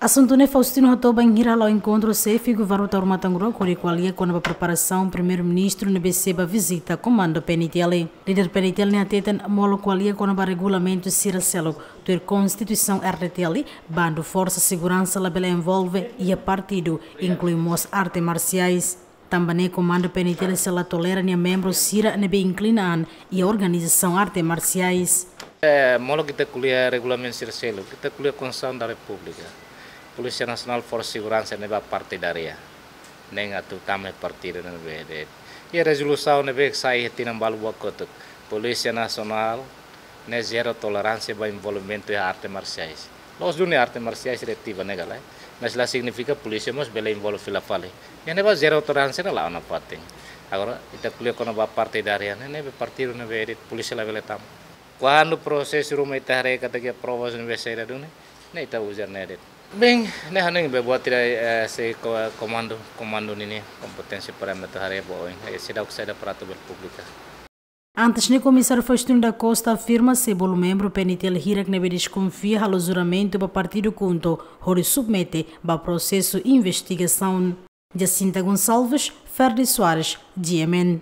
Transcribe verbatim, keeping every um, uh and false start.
Asuntu ne'e Faustino hato'o bainhira hala'o enkontru xefe governu Taur Matan Ruak hodi ko'alia kona-ba preparasaun Primeiru-Ministru ne'ebé sei bá vizita komandu P N T L. Líder P N T L ne'e hateten molok ko'alia kona-ba regulamentu sira seluk tuir Konstituisaun R D T L, bandu forsa seguransa labele envolve iha partidu, inklui mós arte marsiais. Tanba ne'e komandu P N T L sei la tolera nia membru sira ne'ebé inklina an iha organizasaun arte marsiais. Eh, molok ita ko'alia regulamentu sira seluk, ita ko'alia Konstituisaun da Repúblika. Polísia Nasionál, Forsa Seguransa ne'e bá partidária. Nein atu tama partidu ne'ebé de'it. Iha rezolusaun ne'ebé sai iha tinan balu buat kotuk. Polísia Nasionál ne'e zero toleránsia ba envolvimentu iha arte marsiais. La'ós duni arte marsiais reativa ne'e galai. Mas la signifika polísia mós bele envolve fila fali. Iha ne'ebá zero toleránsia ne'e la'o nafatin. Agora, ita ko'alia kona-ba partidária ne'e, ne'ebé partidu ne'ebé de'it polísia labele tama. Kuandu prosesu ruma ita haree katak iha provas ne'ebé saida duni, ne'e ita uza ne'e de'it. Bem, ne'e hanoin be buat ida, eh, sei ko-, komandu, komandu ninia kompeténsia para ema atu haree ba oin, eh, seidauk saida para atu bele publika. Antes ne'e Komisáriu Faustino da Costa afirma se bolu membru P N T L hirak ne'ebé deskonfia halo juramentu ba partidu KHUNTO hodi submete ba prosesu investigasaun. Jacinta Gonçalves, Ferdi Soares, G M N.